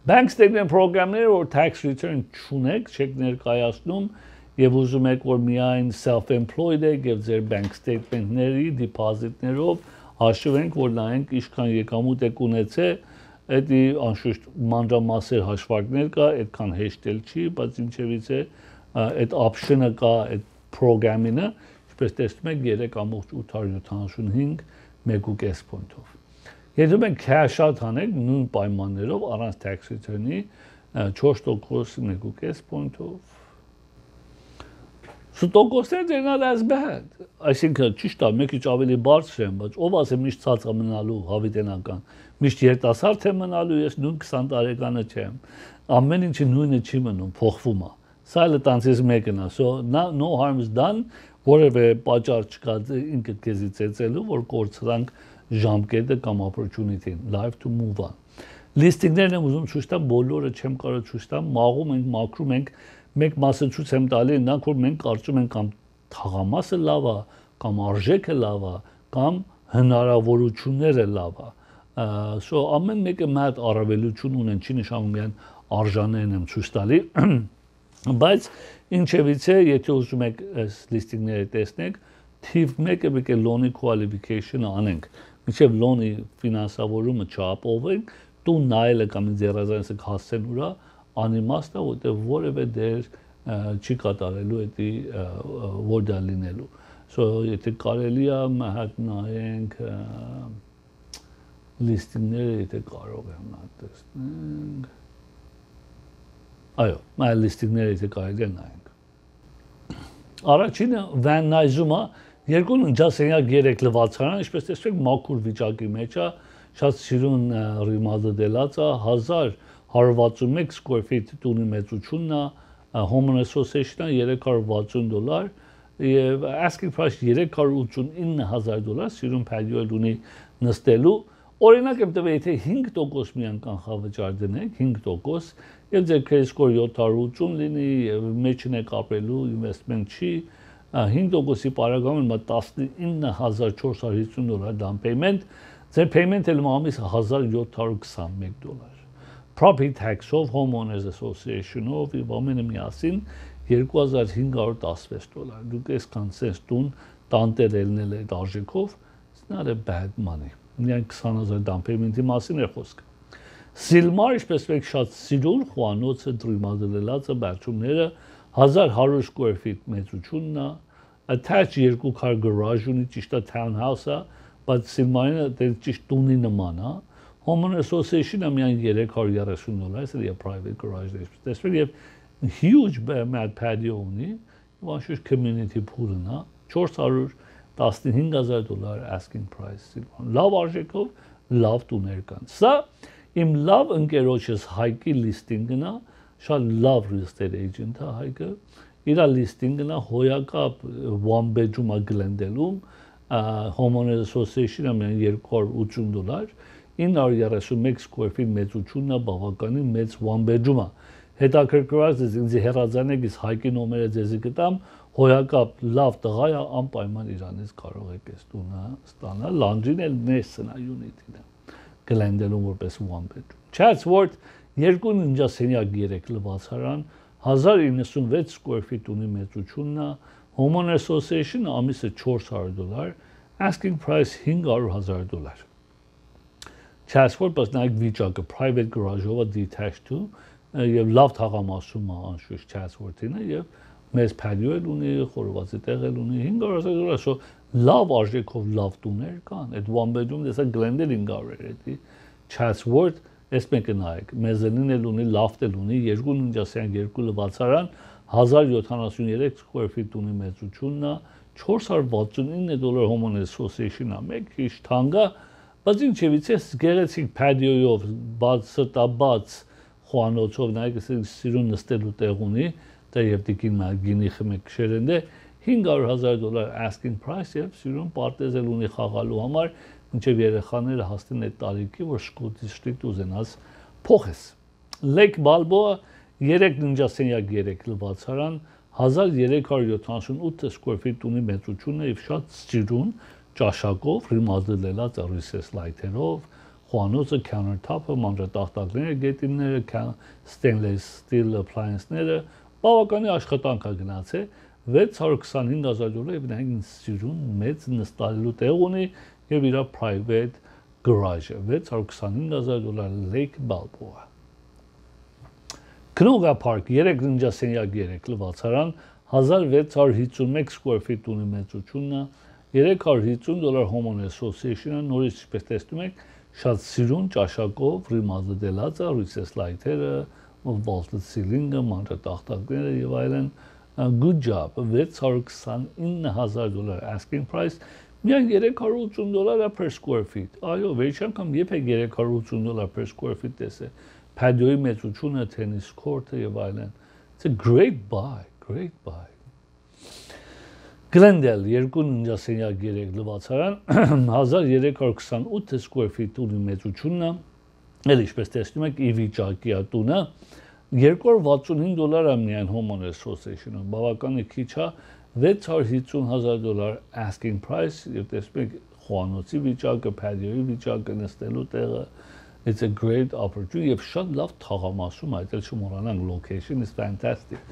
Bank statement program-ները որ tax return չունեք, չեք ներկայացնում եւ ուզում եք որ միայն self-employed եք եւ ձեր bank statement-ների deposit-ներով հաշվենք որ նայենք ինչքան եկամուտ եք ունեցել Էդի անշուշտ մանրամասեր հաշվարկներ կա, այդքան հեշտել չի, բայց ինչևից է այդ option-ը կա, այդ program-ինը, ինչպես տեսնում եք 3.875 1.5 point-ով։ Եթե մենք cash out անենք նույն պայմաններով առանց tax return-ի 4% 1.5 point-ով So տոկոսները they're not as bad։ Այսինքն ճիշտ է, մեկ քիչ ավելի բարձր են, բայց ով ասեմ միշտ ցած է մնալու հավիտենական։ Միշտ երիտասարդ է մնալու, ես նույն 20 տարեկանը չեմ։ Ամեն ինչը նույնը չի մնում, փոխվում է։ Սա էլ տանցից մեկն է, so no harm is done, որևէ պատճառ չկա ինքդ քեզի ծեծելու, որ կորցրանք ժամկետը կամ opportunity-ն, life to move on։ Listing-ներն եմ ուզում ցույց տամ, բոլորը չեմ կարող ցույց տամ, մաղում ենք, մաքրում ենք Մենք մասը ցույց եմ տալի, նրանք որ մենք կարծում ենք կամ թաղամասը լավ է, կամ արժեքը լավ է, կամ հնարավորությունները լավ է։ So ամեն մեկը մատ առավելություն ունեն, չի նշանակում միայն արժաններն եմ ցույց տալի, բայց ինչևից է, եթե ուզում եք այս լիստինգները տեսնեք, թիվ 1-ը պետք է loan-ի qualification-ը անենք։ Մինչև loan-ի ֆինանսավորումը չապահովենք, տուն նայելը կամ ձեռազանցը հասցեն ուրա անիմաստ է, որտեղ որևէ դեր չի կատարելու էդի որ դա լինելու։ So եթե կարելի է մահատ նայենք լիստինգները, եթե կարող եմ նա տեսնենք։ Այո, մայ լիստինգները եթե կարելի է նայենք։ Առաջինը Van Nuys-ը երկուն ընջասենյակ 3 լվացարան, ինչպես տեսեք, մաքուր վիճակի մեջ է, շատ սիրուն remodel-ած է, 1161 square feet տունի մեծությունն է, Home Association-ը $360 եւ asking price $389,000 սիրուն patio-ել ունի նստելու օրինակ եմ տվել եթե 5% միան կանխավճար դնեք 5% եւ ձեր credit score 780 լինի եւ մեջն եք ապրելու investment չի 5%-ի պարագայում $19,450 down payment ձեր payment-ը ամիս $1,721 Property tax-ով, Homeowners Association-ով եւ ամենը միասին $2,516 Դուք այսքան sense տուն տանտեր ելնել այդ արժեքով, it's not a bad money։ Միայն 20,000 down payment-ի մասին է խոսքը։ Silmar, ինչպես մեկ շատ սիրուն, խոհանոցը դրիմադրելածը բարձումները 1100 square feet մեծությունն է, attached երկու քար garage ունի, ճիշտ է townhouse-ը, բայց Silmar-ը դե ճիշտ տունի նման է։ Homeowner Association-ը միայն $330, այսինքն եւ private garage-ներ, տեսեք եւ huge mad patio ունի, եւ անշուշտ community pool-ն է, $415,000 asking price։ Լավ արժեքով, լավ տուներ կան։ Սա իմ լավ ընկերոջս Հայկի listing-ն է, շատ լավ real estate agent է Հայկը։ Իր listing-ն է հոյակապ one bedroom-ը Glendale-ում, Homeowner Association-ը միայն $280 931 square feet մեծությունն է բավականին մեծ one bedroom-ը։ Հետաքրքրված է ինձ հեռացանեք իս Հայկի նոմերը ձեզի կտամ, հոյակապ լավ տղա է, անպայման իրանից կարող եք այս տունը ստանալ, լանդրին էլ նեսն է unit-ին է, Glendale-ում որպես one bedroom։ Chatsworth երկու ննջասենյակ 3 լվացարան, 1096 square feet ունի մեծությունն է, Homeowner Association ամիսը $400, asking price $500,000. Chatsworth բայց նայեք վիճակը private garage-ով detached to եւ լավ թաղամասում է անշուշտ Chatsworth-ինը եւ մեծ patio էլ ունի, խորովածի տեղ էլ ունի, $500,000, so լավ արժեքով լավ տուներ կան։ Այդ one bedroom դեսա Glendale $500 էդի Chatsworth, այս մեկը նայեք, մեզանին էլ ունի, loft էլ ունի, 2.5 լվացարան, 1073 square feet ունի մեծությունն է, $469 Homeowner Association-ը, մեկ քիչ թանկ է, բայց ինչևից է գեղեցիկ patio-ով, բացատաբաց խոհանոցով, նայեք, սիրուն նստելու տեղ ունի, դա եւ դիկին գինի խմեք քշերեն է $500,000 asking price եւ սիրուն պարտեզել ունի խաղալու համար, մինչեւ երեխաները հասնեն այդ տարիքի, որ school district ուզենաս փոխես։ Lake Balboa 3 ննջասենյակ 3 լվացարան 1378 square feet ունի մեծությունը եւ շատ սիրուն ճաշակով, ռիմադելելած recess light-երով, խոհանոցը, countertop-ը, մանրատախտակները, գետինները, stainless steel appliance-ները, բավականի աշխատանք է գնացել, $625,000 եւ նայեք սիրուն մեծ նստալու տեղ ունի եւ իր private garage-ը, $625,000 Lake Balboa։ Knoga Park 3 ննջասենյակ 3 լվացարան 1651 square feet ունի մեծությունն, $350 Homeowner Association-ը, նորից ինչպես տեսնում եք, շատ սիրուն ճաշակով, ռիմադելած է, recess light-երը, vaulted ceiling-ը, մանրատախտակները եւ այլն, good job, $629,000 asking price, միայն $380 per square feet, այո, վերջի անգամ եպեք $380 per square feet տեսե, patio-ի մեծությունը, tennis court-ը եւ այլն, it's a great buy, great buy. Glendale 2 ննջասենյակ 3 լվացարան 1328 square feet ունի մեծությունն, էլ ինչպես տեսնում եք, ի վիճակի է տունը, $265 միայն Homeowner Association-ը, բավականի քիչ է, $650,000 asking price, եւ տեսնում եք խոհանոցի վիճակը, patio-ի վիճակը, նստելու տեղը, it's a great opportunity, եւ շատ լավ թաղամասում է, այդել չմոռանանք, location is fantastic.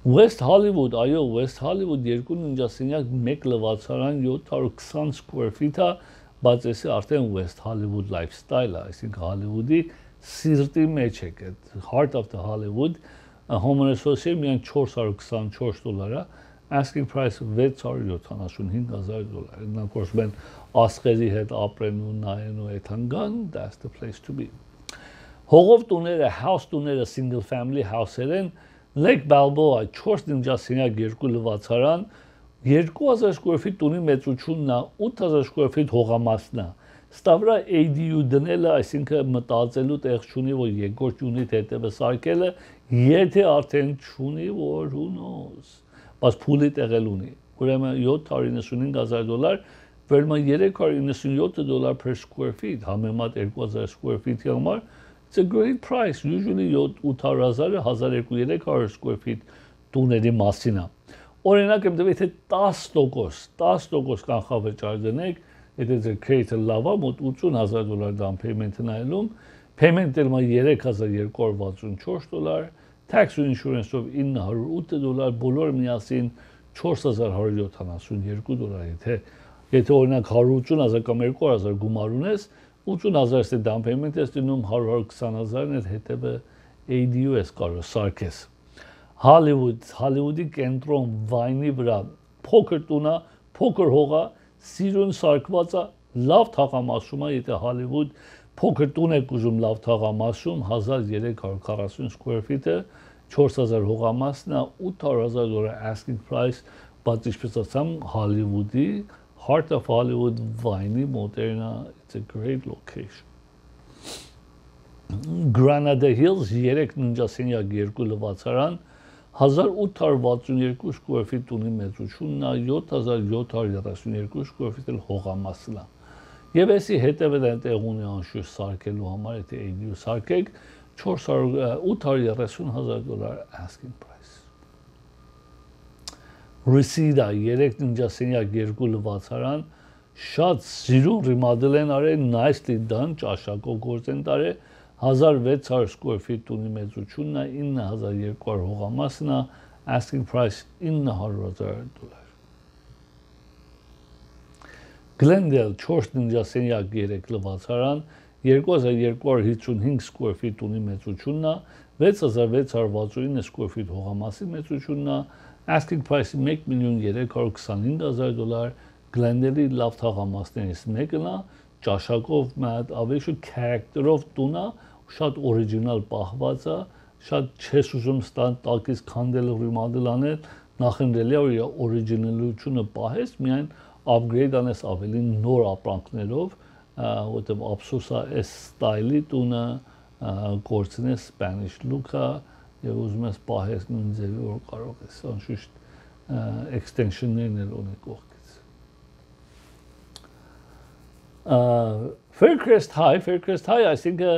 West Hollywood, այո, West Hollywood 2 ննջասենյակ 1 լվացարան 720 square feet-ը, բայց էսի արդեն West Hollywood lifestyle-ը, այսինքն Hollywood-ի սիրտի մեջ եք, heart of the Hollywood, Homeowner Association միայն $424, asking price $675,000, նրանք որ են ասղերի հետ ապրեն ու նայեն ու այդքան, that's the place to be։ Հողով տուները, house տուները, single family house-եր են, Lake Balboa 4 ննջասենյակ 2 լվացարան 2000 square feet տունի մեծությունն է, 8000 square feet հողամասն է։ Ստավրա ADU դնելը, այսինքն մտածելու տեղ չունի, որ երկրորդ յունիտ հետևը սարքելը, եթե արդեն չունի, որ who knows, բայց փուլի տեղ էլ ունի։ Ուրեմն $795,000, վերնում $397 per square feet, համեմատ 2000 square feet-ի համար, it's a great price, usually 800,000-ը 1200 square feet տուների մասին է։ Օրինակ եմ տվել, եթե 10% կանխավճար դնեք, եթե ձեր credit-ը լավ է, մոտ $80,000 down payment-ը նայելում, payment-ը $3,264, tax ու insurance-ով $908, բոլոր միասին $4,172, եթե օրինակ 180,000 կամ 200,000 գումար ունես, 80,000 down payment ես դնում 120,000-ն էլ հետևը ADU ես կարող սարքես։ Hollywood-ի կենտրոն վայնի վրա փոքր տունա, փոքր հողա, սիրուն սարքված է, լավ թաղամասում է, եթե Hollywood փոքր տուն եք ուզում լավ թաղամասում, 1340 square feet-ը, 4000 հողամասն է, $800,000 asking price, բայց ինչպես ասամ, Hollywood-ի Heart of Hollywood վայնի մոտերնա, it's a great location։ Granada Hills 3 ննջասենյակ 2 լվացարան 1862 square feet ունի մեծությունն է, 7732 square feet էլ հողամասն է։ Եվ էսի հետևը դեռ ունի անշուշտ սարքելու համար, եթե ADU սարքեք, $830,000 asking price։ Reseda 3 ննջասենյակ 2 լվացարան շատ սիրուն remodel են արել, nicely done, ճաշակով գործ են տարել, 1600 square feet ունի մեծությունն է, 9200 հողամասն է, asking price $900,000։ Glendale 4 ննջասենյակ 3 լվացարան 2255 square feet ունի մեծությունն է, 6669 square feet հողամասի մեծությունն է, asking price-ը $1,325,000, Glendale-ի լավ թաղամասներից մեկն է, ճաշակով մատ ավելի շուտ character-ով տուն է, շատ original պահված է, շատ չես ուզում ստան տակից քանդել ռիմադել անել, նախընտրելի է որ իր originalությունը պահես, միայն upgrade անես ավելի նոր ապրանքներով, որտեղ ափսոս է այս style-ի տունը գործնես Spanish look-ը եւ ուզում ես պահես նույն ձևի որ կարող ես անշուշտ extension-ներն էլ ունի կողքից Faircrest High, այսինքն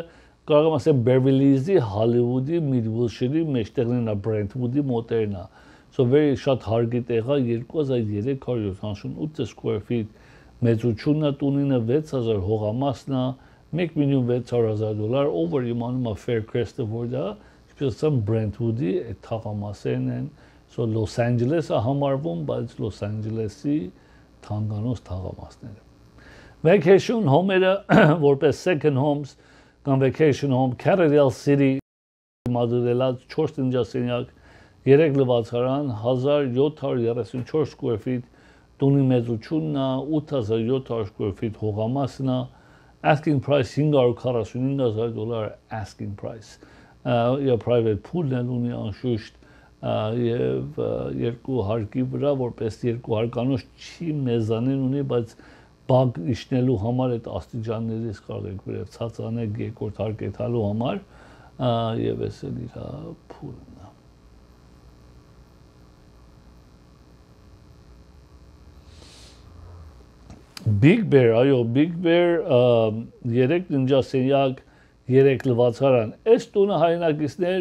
կարող եմ ասել Beverly Hills-ի, Hollywood-ի, Midwilshire-ի մեջտեղն է Brentwood-ի մոտերն է So very շատ հարգի տեղ է 2378 square feet մեծությունն է տունինը 6000 հողամասն է $1,600,000 over իմանում է Faircrest-ը որ դա ինչպես Brentwood-ի այդ թաղամասերն են So Los Angeles-ը համարվում, բայց Los Angeles-ի թանկանոց թաղամասները Vacation home-երը որպես second homes կամ vacation home Carrerdale City մադրելած 4 ննջասենյակ 3 լվացարան 1734 square feet տունի մեծությունն է 8700 square feet հողամասն է asking price $545,000 asking price եւ private pool-ն էլ ունի անշուշտ եւ երկու հարկի վրա որպես երկու հարկանոց չի մեզանին ունի բայց բակ իշնելու համար այդ աստիճաններից կարող եք վերև ցածանեք երկրորդ հարկ եթալու համար եւ էս էլ իր փուլն է Big Bear, այո, Big Bear 3 ննջասենյակ 3 լվացարան այս տունը հայրենակիցներ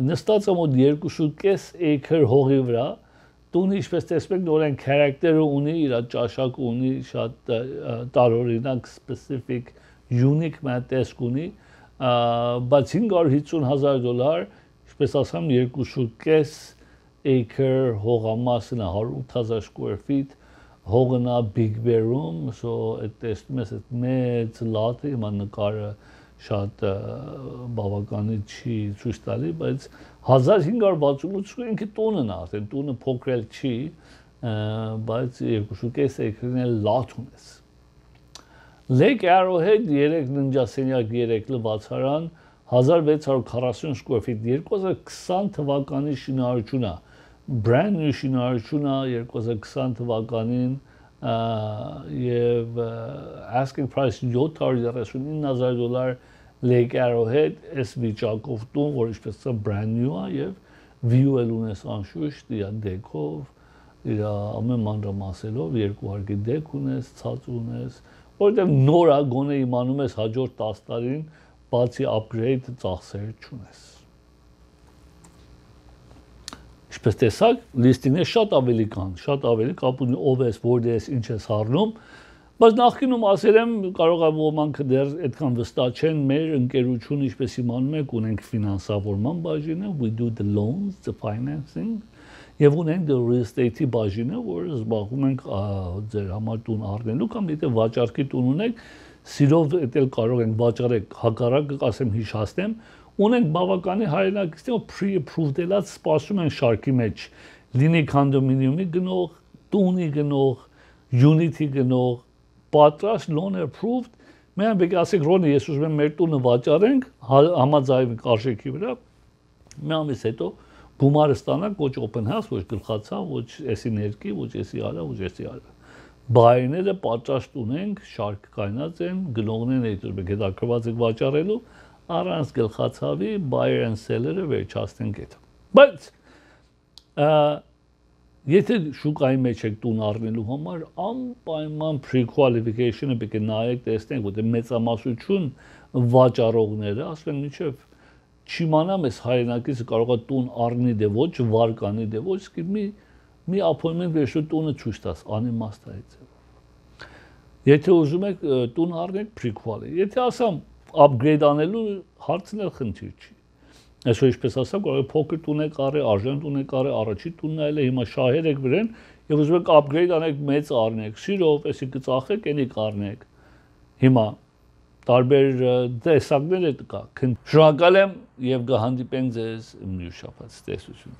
նստած է մոտ 2.5 acre հողի վրա տունը ինչպես տեսնում եք նորեն character-ը ունի իր ճաշակ ունի շատ տարօրինակ specific unique մտածք ունի բայց $550,000 ինչպես ասամ 2.5 acre հողամասն է 108,000 square feet հողն է Big Bear-ում so այդ տեսնում ես այդ մեծ լատը հիմա նկարը շատ բավականին չի ցույց տալի, բայց 1568 ինքը տունն է, արդեն տունը փոքրել չի, բայց 2.5 acre-ն էլ լատ ունես։ Lake Arrowhead 3 ննջասենյակ 3 լվացարան 1640 square feet 2020 թվականի շինարարություն է, brand new շինարարություն է 2020 թվականին եւ asking price $739,000 Lake Arrowhead այս վիճակով տուն, որ ինչպես է brand new է եւ view էլ ունես անշուշտ իր դեկով, իր ամեն մանրամասելով երկու հարկի դեք ունես, ցած ունես, որտեղ նոր է գոնե իմանում ես հաջորդ 10 տարին բացի upgrade ծախսեր չունես։ Ինչպես տեսակ, լիստինը շատ ավելի կան, շատ ավելի կապ ունի ով ես, որտեղ ես, ինչ ես առնում, բայց նախկինում ասել եմ, կարող է ոմանք դեռ այդքան վստահ չեն, մեր ընկերությունը, ինչպես իմանում եք, ունենք ֆինանսավորման բաժինը, we do the loans, the financing, եւ ունենք the real estate-ի բաժինը, որը զբաղվում ենք ձեր համար տուն առնելու կամ եթե վաճառքի տուն ունեք, սիրով էլ կարող ենք վաճառեք, հակառակը ասեմ հիշացնեմ, ունենք բավականին հայրենակիցներ pre-approved ելած սպասում են շարքի մեջ լինի condominium-ի գնող, տունի գնող, unit-ի գնող, պատրաստ loan approved, մենք բեկի ասենք Ռոնի, ես ուզում եմ մեր տունը վաճառենք, համաձայնենք արժեքի վրա, մի ամիս հետո գումարը ստանանք ոչ open house, ոչ գլխացավ, ոչ էսի ներքի, ոչ էսի արա, ոչ էսի արա։ Բայերները պատրաստ ունենք, շարք կայնած են, գնողներն այդ ուզում եք հետաքրված եք վաճառելու, առանց գլխացավի buyer and seller-ը վերջացնենք այդ։ Բայց եթե շուկայի մեջ եք տուն առնելու համար անպայման pre-qualification-ը պետք է նայեք, տեսնենք, որտեղ մեծամասնություն վաճառողները ասում են մինչև չիմանամ ես հայրենակիցը կարող է տուն առնի դե ոչ, վարկանի դե ոչ, մի appointment վերջու տունը ցույց տաս, անիմաստ է այդ։ Եթե ուզում եք տուն առնեք pre-quali, եթե ասամ upgrade անելու հարցն էլ խնդիր չի։ Այսօր ինչպես ասեմ, կարող է փոքր տուն եք առել, արժան տուն եք առել, առաջի տունն այլ է, հիմա շահեր եք վրան Եվ ուզում եք upgrade անեք, մեծ առնեք, սիրով, էսի կծախեք, էլի կառնեք։ Հիմա տարբեր տեսակներ կա։ Շնորհակալ եմ եւ կհանդիպենք ձեզ մյուս շաբաթ։ Տեսություն։